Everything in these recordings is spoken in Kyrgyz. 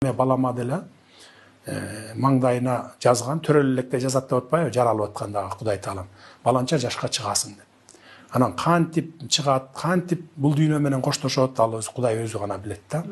балама деле маңдайына жазган, төрөлө электе жазат деп атпайбы, жаралып аткандагы Кудай Таалам. Баланча жашка чыгасың деп. Анан кантип чыгат, кантип бул дүйнө менен коштошот, ал Кудай өзү гана билет да.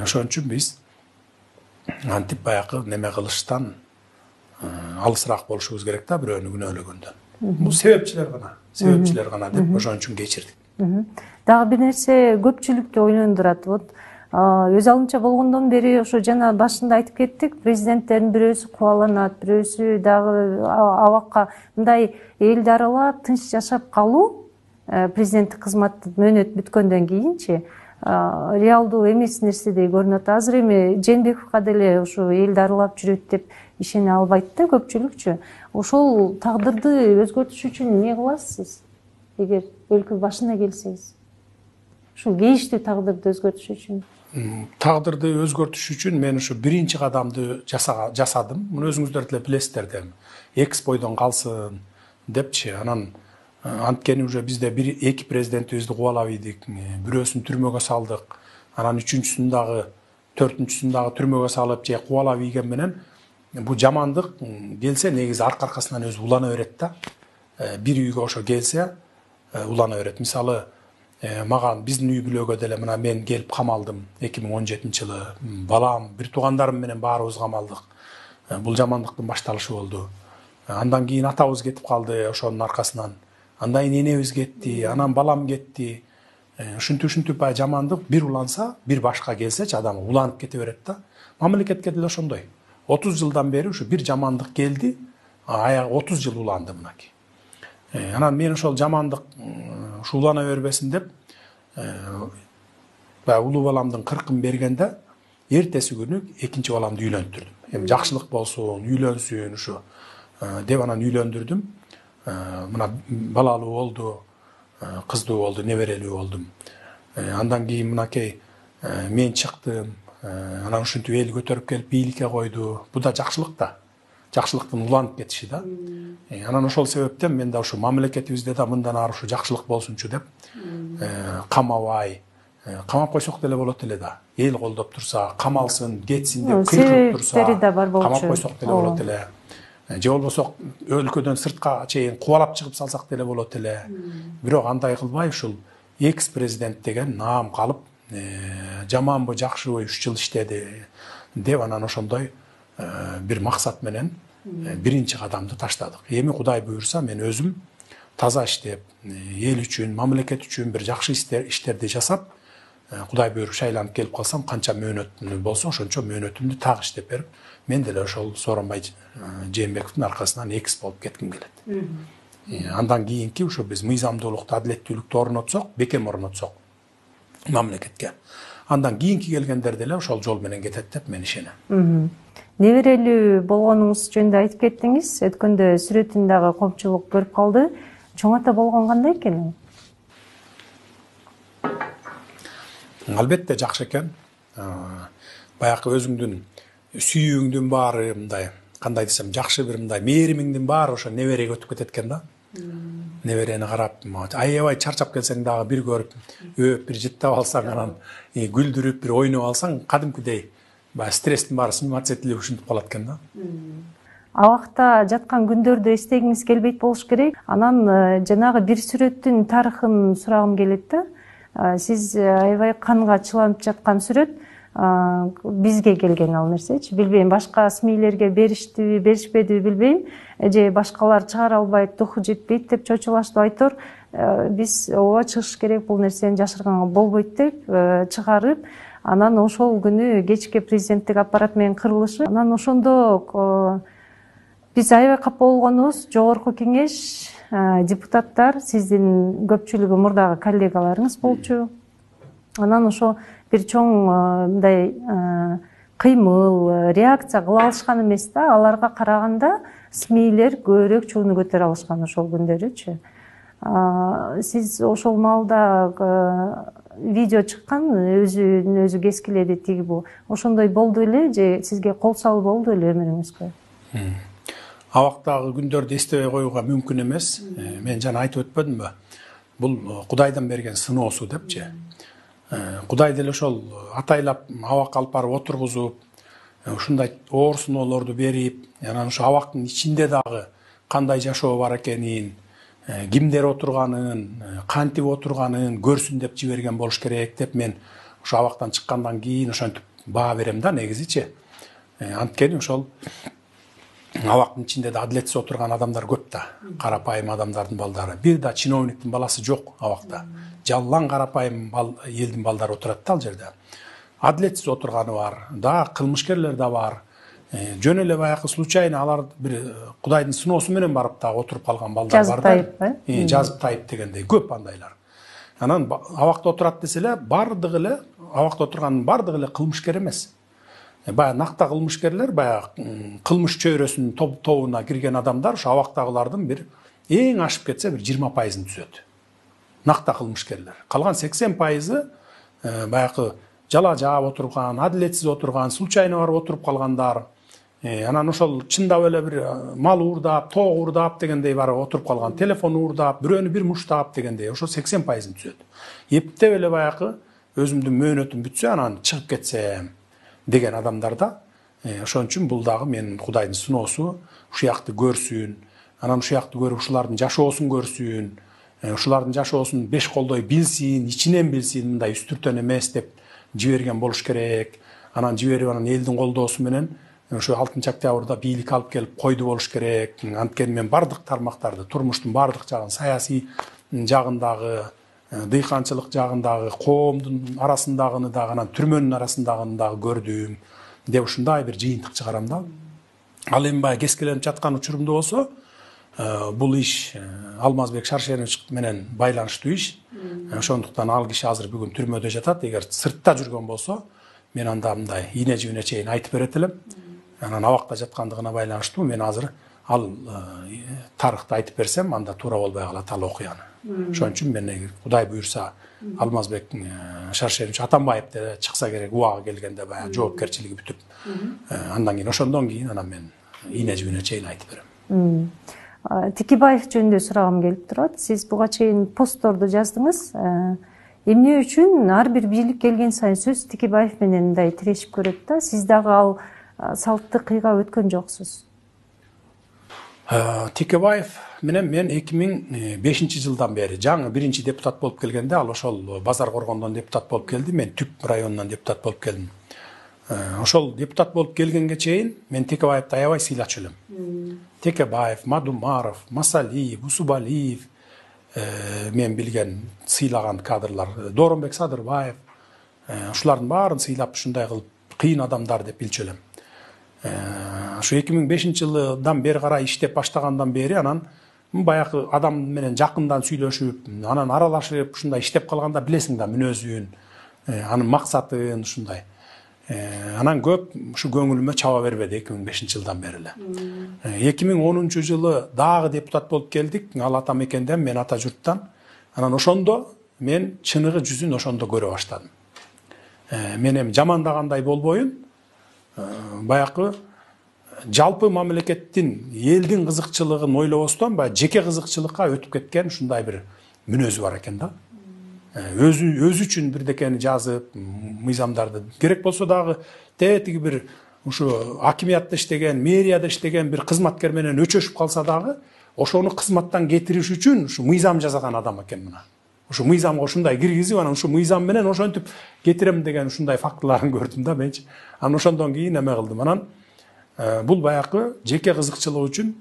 Ошон үчүн биз антип баягы неме кылыштан алысыраак болушубуз керек да, бирөөнү күнөөлөгөндөн. Бул себепчилер гана деп ошон үчүн кечирдик. Дагы бир нерсе көпчүлүктү ойлондурат. Өз алымча болгондон бери ошо жана башында айтып кеттик, президенттердин бирөөсү кубаланат, бирөөсү дагы абакка мындай элди аралап тынч жашап калуу президенттик кызматтын мөөнөтү бүткөндөн кийинчи реалдуу эмес нерседей көрүнөт. Азыр эми Жээнбековго деле ошо элди аралап жүрөт деп ишене албайт да көпчүлүкчү. Ошол тагдырды өзгөртүш үчүн эмне кыласыз? Эгер өлкө башына келсеңиз, ушул кейиштүү тагдырды өзгөртүш үчүн. Тагдырды өзгөртүш үчүн мен ушу биринчи кадамды жасадым. Муну өзүңүздөр деле билесиздер да. Экспойдон калсын депчи. Анан анткени уже бизде эки президентибизди кубалап ийдик. Бирөөсүн түрмөгө салдык. Анан үчүнчүсүн дагы, төртүнчүсүн дагы түрмөгө салып же кубалап ийген менен бул жамандык келсе негизи аркасынан өзү улана берет да. Бир үйгө ошо келсе улана берет. Мисалы, маған биздин үй бүлөгө деле мына мен келип камалдым 2017-жылы. Балам, бир туугандарым менен баарыбыз камалдык. Бул жамандыктын башталышы болду. Андан кийин атабыз кетип калды ошонун аркасынан. Андан кийин энебиз кетти, анан балам кетти. Ушинтип баягы жамандык бир уланса, бир башка келсечи адам уланып кете берет да. Мамлекетке деле ошондой. 30 жылдан бери ушу бир жамандык келди, аягы 30 жыл уланды мынакей. Анан мен ошол жамандык улана бербесин деп улуу баламдын 40-ын бергенде эртеси күнү экинчи баламды үйлөндүрдүм. Эми жакшылык болсун, үйлөнсүн ушу деп анан үйлөндүрдүм. Мына балалуу болду, кыздуу болду, неберелүү болдум. Андан кийин мынакей мен чыктым. Анан ушинтип эл көтөрүп келип бийликке койду. Бул да жакшылык да. Жакшылыктын уланып кетиши да. Анан ошол себептен мен да ушу мамлекетибизде да мындан ары ушу жакшылык болсунчу деп камабай, камап койсок деле болот эле да. Эл колдоп турса, камалсын, кетсин деп кыйкырып турса, камап койсок деле болот эле. Же болбосо өлкөдөн сыртка чейин кубалап чыгып салсак деле болот эле. Бирок андай кылбай ушул экс-президент деген наам калып, жаманбы, жакшыбы 3 жыл иштеди деп анан ошондой бир максат менен биринчи кадамды таштадык. Эми Кудай буйрса мен өзүм таза иштеп, эл үчүн, мамлекет үчүн бир жакшы иштерди жасап, Кудай буйруп шайланып келип калсам, канча мөөнөт болсо ошончо мөөнөтүмдү так иштеп берип, мен деле ошол Сооронбай Жээнбековдун аркасынан экс болуп кетким келет. Андан кийинки ушу биз мыйзамдуулукту, адилеттүүлүктү орнотсок, бекем орнотсок мамлекетке. Андан кийинки келгендер деле ошол жол менен кетет деп мен ишенем. Неберелүү болгонуңуз жөнүндө айтып кеттиңиз. Өткөндө сүрөтүн дагы коомчулук көрүп калды. Чоң ата болгон кандай экен? Албетте жакшы экен. Баягы өзүңдүн сүйүүңдүн баары мындай, кандай десем, жакшы бир мындай мээримиңдин баары ошо небереге өтүп кетет экен да. Неберени карап, аябай чарчап келсең дагы бир көрүп, өп бир жыттап алсаң, анан күлдүрүп бир ойноп алсаң, кадимкидей баягы стресстин баары сниматься этилип ушинтип калат экен да. Абакта жаткан күндөрдү эстегиңиз келбейт болуш керек. Анан жанагы бир сүрөттүн тарыхын сурагым келет да. Сиз аябай канга чыланып жаткан сүрөт бизге келген ал нерсечи. Билбейм, башка СМИлерге бериштиби, беришпедиби билбейм. Же башкалар чыгара албайт, духу жетпейт деп чочулаштып айтор. Биз ооба чыгыш керек, бул нерсени жашырганга болбойт деп чыгарып, анан ошол күнү кечке президенттик аппарат менен кырылышы. Анан ошондо биз аябай капа болгонубуз, жогорку кеңеш, депутаттар, сиздин көпчүлүгү мурдагы коллегаларыңыз болчу. Анан ошо бир чоң мындай кыймыл, реакция кыла алышкан эмес да. Аларга караганда СМИлер көбүрөөк чууну көтөрө алышкан ошол күндөрүчү. Сиз ошол маалда видео чыккан, өзүн өзү кескиледи тиги бу. Ошондой болду эле же сизге кол салуу болду эле өмүрүңүзгө? Абактагы күндөрдү эстебей коюуга мүмкүн эмес. Мен жана айтып өтпөдүмбү? Бул Кудайдан берген сыноосу депчи. Кудай деле ошол атайлап абакка алып барып отургузуп, ушундай оорсуноолорду берип, анан ошо абактын ичинде дагы кандай жашоо бар экенин, кимдер отурганын, кантип отурганын көрсүн деп жиберген болуш керек деп мен ошо абактан чыккандан кийин ошентип баа берем да негизичи. Анткени ошол абактын ичинде да адилетсиз отурган адамдар көп да, карапайым адамдардын балдары. Бир да чиновниктин баласы жок абакта. Жаллан карапайым элдин балдары отурат да ал жерде. Адилетсиз отурганы бар, да кылмышкерлер да бар. Жөн эле баягы случайно алар бир Кудайдын сыноосу менен барып да отуруп калган балдар бар да. Жазып тайып дегендей көп андайлар. Анан абакта отурат десе эле бардыгы эле абакта отурганын бардыгы эле кылмышкер эмес. Баягы накта кылмышкерлер, баягы кылмыш чөйрөсүнүн тобуна кирген адамдар ошо абактагылардын бир эң ашып кетсе бир 20%-ын түзөт. Накта кылмышкерлер. Калган 80%-ы баягы жала жаап отурган, адилетсиз отурган, случайно барып отуруп калгандар. Анан ошол чындап эле бир мал уурдап, тоок уурдап дегендей барып отуруп калган, телефон уурдап, бирөөнү бир муштап дегендей ошо 80%-ын түзөт. Эптеп эле баягы өзүмдүн мөөнөтүм бүтсө, анан чыгып кетсем деген адамдарда, ошон үчүн бул дагы менин Кудайдын сыноосу, ушуякты көрсүн, анан ушуякты көрүп ушулардын жашоосун көрсүн, ушулардын жашоосун беш колдой билсин, ичинен билсин, мындай үстүртөн эмес деп жиберген болуш керек. Анан жиберип анан элдин колдоосу менен ошо 6-октябрда бийлик алып келип койду болуш керек. Анткени мен бардык тармактарды, турмуштун бардык жагын, саясий жагындагы, дыйканчылык жагындагы, коомдун арасындагыны дагы, анан түрмөнүн арасындагыны дагы көрдүм деп ушундай бир жыйынтык чыгарам да. Ал эми баягы кескиленип жаткан учурумда болсо, бул иш Алмазбек Шаршенович менен байланыштуу иш. Ошондуктан ал киши азыр бүгүн түрмөдө жатат. Эгер сыртта жүргөн болсо, мен анда мындай ийне жибине чейин айтып берет элем. Анан абакта жаткандыгына байланыштуу мен азыр ал тарыхты айтып берсем, анда туура болбой калат ал окуяны. Ошон үчүн мен Кудай буйрса Алмазбек Шаршенович Атамбаев деле чыкса керек, убагы келгенде баягы жоопкерчилиги бүтүп, андан кийин ошондон кийин анан мен ийне жибине чейин айтып берем. Тикибаев жөнүндө сурагым келип турат. Сиз буга чейин постторду жаздыңыз. Эмне үчүн ар бир бийлик келген сайын сөз Тикибаев менен мындай тирешип көрөт да? Сиз дагы ал салтты кыйга өткөн жоксуз. Тикибаев менен мен 2005-жылдан бери жаңы биринчи депутат болуп келгенде, ал ошол Базар Коргондон депутат болуп келди, мен Түп районунан депутат болуп келдим. Ошол депутат болуп келгенге чейин мен Тикибаевди аябай сыйлачу элем. Текебаев, Мадумаров, Масалиев, Усубалиев, мен билген сыйлаган кадрлар, Доронбек Садырбаев, ушулардын баарын сыйлап ушундай кылып кыйын адамдар деп билчү элем. Ошо 2005-жылдан бери карай иштеп баштагандан бери анан баягы адам менен жакындан сүйлөшүп, анан аралашып ушундай иштеп калганда билесиң да мүнөзүн, анын максатын ушундай. Анан көп ушу көңүлүмө чаба бербеди 2005-жылдан бери эле. 2010-жылы дагы депутат болуп келдик, ал ата мекенден, мен ата журттан. Анан ошондо мен чыныгы жүзүн ошондо көрө баштадым. Мен эми жамандагандай болбоюн, баягы жалпы мамлекеттин, элдин кызыкчылыгын ойлобостон, баягы жеке кызыкчылыкка өтүп кеткен ушундай бир мүнөзү бар экен да. Өзү үчүн бирдекени жазып, мыйзамдарды керек болсо дагы тетиги бир ушу акимиятта иштеген, мэрияда иштеген бир кызматкер менен өчөшүп калса дагы, ошону кызматтан кетириш үчүн ушу мыйзам жасаган адам экен мына. Ушу мыйзамга ушундай киргизип, анан ушу мыйзам менен ошентип кетирем деген ушундай фактыларын көрдүм да менчи. Анан ошондон кийин эме кылдым. Анан бул баягы жеке кызыкчылык үчүн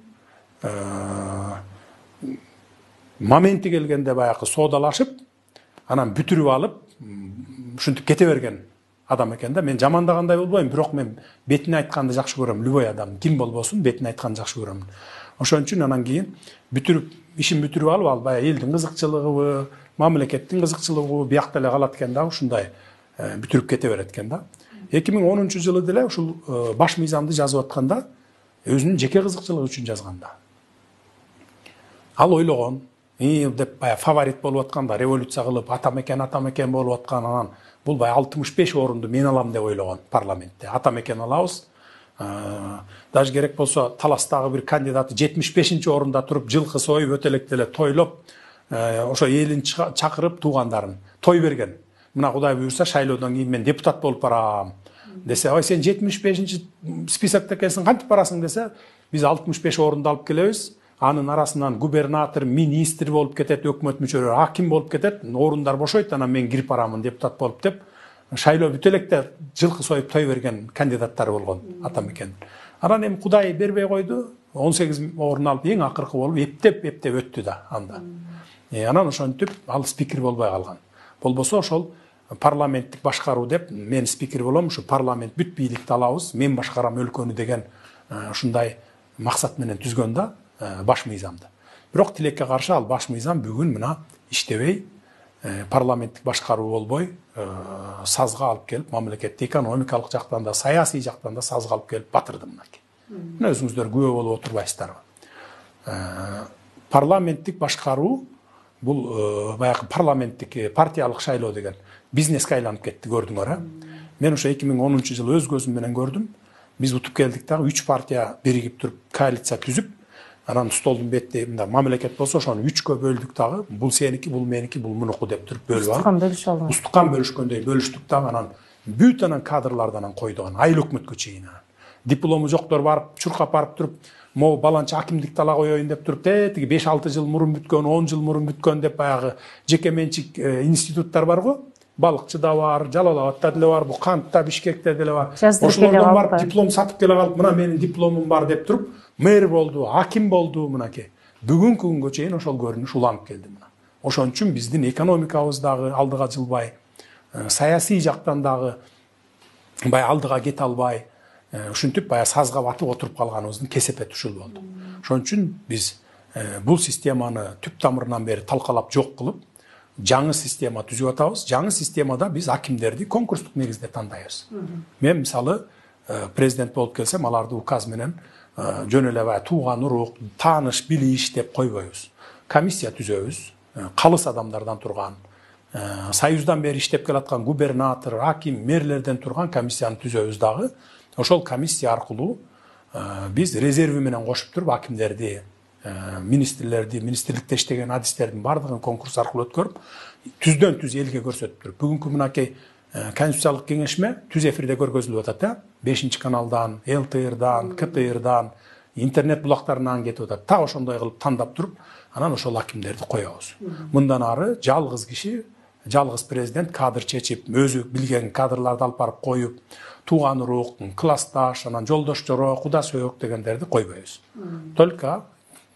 моменти келгенде баягы соодалашып, анан бүтүрүп алып, ушинтип кете берген адам экен да. Мен жамандагандай болбойм, бирок мен бетине айтканды жакшы көрөм. Любой адам ким болбосун бетине айтканды жакшы көрөм. Ошон үчүн анан кийин ишин бүтүрүп алып, ал баягы элдин кызыкчылыгыбы, мамлекеттин кызыкчылыгыбы биякта эле калат экен да, ушундай бүтүрүп кете берет экен да. 2010-жылы деле ушул баш мыйзамды жазып атканда өзүнүн жеке кызыкчылыгы үчүн жазганда. Ал ойлогон, деп баягы фаворит болуп атканда, революция кылып ата мекен болуп аткан, анан бул баягы 65 орунду мен алам деп ойлогон парламентте. Ата мекен алабыз. Даже керек болсо таластагы бир кандидаты 75-орунда туруп, жылкы союп, өтөлөктө эле тойлоп, ошо элин чакырып туугандарын той берген. мына Кудай буюрса шайлоодон кийин мен депутат болуп барам десе, ой сен 75 списокто экенсиң, кантип барасың десе, биз 65 орунду алып келебиз. Анын арасынан губернатор, министр болуп кетет, өкмөт мүчөлөрү, аким болуп кетет, орундар бошойт, анан мен кирип барамын депутат болуп деп, шайлоо бүтө электе жылкы союп той берген кандидаттар болгон атамекен. Анан эми Кудай бербей койду, 18 орун алып эң акыркы болуп эптеп өттү да анда. Анан ошентип ал спикер болбой калган. Болбосо ошол парламенттик башкаруу деп, мен спикер болом, ушу парламент бүт бийликти алабыз, мен башкарам өлкөнү деген ушундай максат менен түзгөн да баш мыйзамды. Бирок тилекке каршы ал баш мыйзам бүгүн мына иштебей, парламенттик башкаруу болбой, сазга алып келип, мамлекетти экономикалык жактан да, саясий жактан да сазга алып келип батырды мынакей. Мына өзүңүздөр күбө болуп отурбайсыздарбы? Парламенттик башкаруу бул баягы парламенттик партиялык шайлоо деген бизнеске айланып кетти, көрдүңөр, Мен ошо 2010-жылы өз көзүм менен көрдүм. Биз утуп келдик дагы 3 партия биригип туруп коалиция түзүп, анан столдун бетинде мындай мамлекет болсо ошону 3кө бөлдүк дагы. Бул сеники, бул меники, бул мунуку деп туруп бөлүп алып. Устукан бөлүшкөндөй бөлүштүк дагы, анан бүт анан кадрлардан койдуган айыл өкмөткө чейин. Диплому жоктор барып, чуркап барып туруп, могу баланча акимдикти ала коеюн деп туруп, тиги 5-6 жыл мурун бүткөн, 10 жыл мурун бүткөн деп баягы жеке менчик институттар бар го. Балыкчыда бар, Жалал Абадта деле бар, бу Кантта, Бишкекте деле бар. Ошолордон барып диплом сатып келе калып, мына менин дипломум бар деп туруп, мэр болду, аким болду мынакей. Бүгүнкү күнгө чейин ошол көрүнүш уланып келди мына. Ошон үчүн биздин экономикабыз дагы алдыга жылбай, саясий жактан дагы бая алдыга кете албай, ушинтип бая сазга батып отуруп калганыбыздын кесепети ушул болду. Ошон үчүн биз бул системаны түп тамырынан бери талкалап жок кылып, жаңы система түзүп атабыз. Жаңы системада биз акимдерди конкурстук негизде тандайбыз. Мен мисалы президент болуп келсем, аларды указ менен жөн эле бая тууган урук, тааныш, билиш деп койбойбуз. Комиссия түзөбүз, калыс адамдардан турган, союздан бери иштеп келаткан губернатор, аким, мэрлерден турган комиссияны түзөбүз дагы. Ошол комиссия аркылуу биз резерви менен кошуп туруп акимдерди, министрлерди, министрликте иштеген адистердин бардыгын конкурс аркылуу өткөрүп, түздөн түз элге көрсөтүп туруп. Бүгүнкү мынакей конституциялык кеңешме түз эфирде көргөзүлүп атат, 5 каналдан, ЛТРдан, КТРдан, интернет булактарынан кетип атат. Та ошондой кылып тандап туруп, анан ошол акимдерди коебуз. Мындан ары жалгыз киши, жалгыз президент кадр чечип, өзү билген кадрларды алып барып коюп, тууган урук, классташ, анан жолдош жоро, куда сөөк дегендерди койбойбуз. Только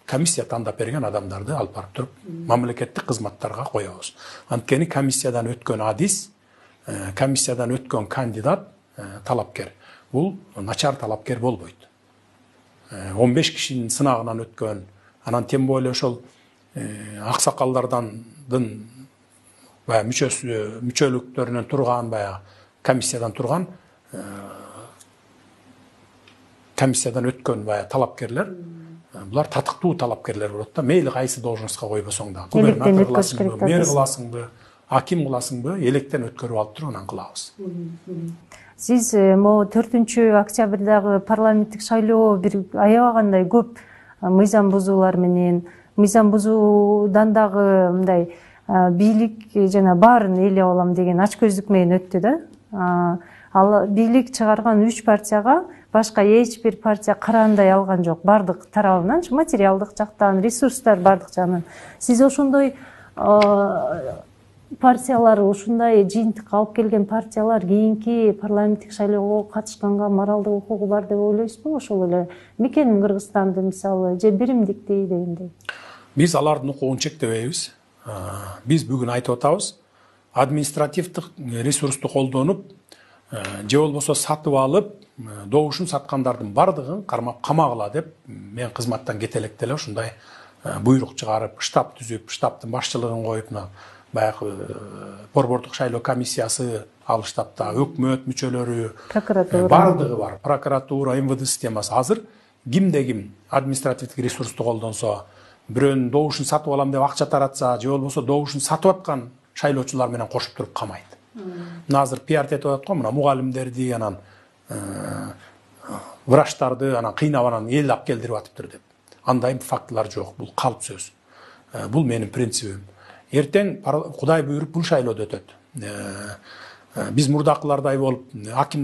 комиссия тандап берген адамдарды алып барып туруп, мамлекеттик кызматтарга коебуз. Анткени комиссиядан өткөн адис, комиссиядан өткөн кандидат, талапкер, бул начар талапкер болбойт. 15 кишинин сынагынан өткөн, анан тем более ошол аксакалдардын бая мүчөлүктөрүнөн турган, бая комиссиядан турган, комиссиядан өткөн бая талапкерлер, булар татыктуу талапкерлер болот да. Мейли кайсы должностко койбосоң да, губернатор кыласыңбы, мэр кыласыңбы, аким кыласыңбы, электен өткөрүп алып туруп анан кылабыз. Сиз могу 4-октябрдагы парламенттик шайлоо бир аябагандай көп мыйзам бузуулар менен, мыйзам бузуудан дагы мындай бийлик жана баарын ээлеп алам деген ачкөздүк менен өттү да. Ал бийлик чыгарган 3 партияга башка эч бир партия караандай алган жок. Бардык тарабынан, материалдык жактан, ресурстар бардык жагынан. Сиз ошондой партиялар, ушундай жыйынтыкка алып келген партиялар кийинки парламенттик шайлоого катышканга моралдык укугу бар деп ойлойсузбу? Ошол эле Мекенин Кыргызстанды мисалы, же биримдикти дегендей. Биз алардын укугун чектебейбиз. Биз бүгүн айтып атабыз, административдик ресурсту колдонуп, же болбосо сатып алып, добушун саткандардын бардыгын кармап камагыла деп мен кызматтан кете электе эле ушундай буйрук чыгарып, штаб түзүп, штабтын башчылыгын коюп, баягы борбордук шайлоо комиссиясы ал штабта, өкмөт мүчөлөрү, бардыгы бар. Прокуратура, МВД системасы. Азыр кимде ким административдик ресурсту колдонсо, бирөөнүн добушун сатып алам деп акча таратса, же болбосо добушун сатып аткан шайлоочулар менен кошуп туруп камайт. Мына азыр пиар этип атат го, мына мугалимдерди, анан врачтарды анан кыйнап анан эл алып келдирип атыптыр деп. Андай фактылар жок, бул калп сөз. Бул менин принцибим. Эртең Кудай буйруп бул шайлоодо өтөт. Биз мурдакылардай болуп аким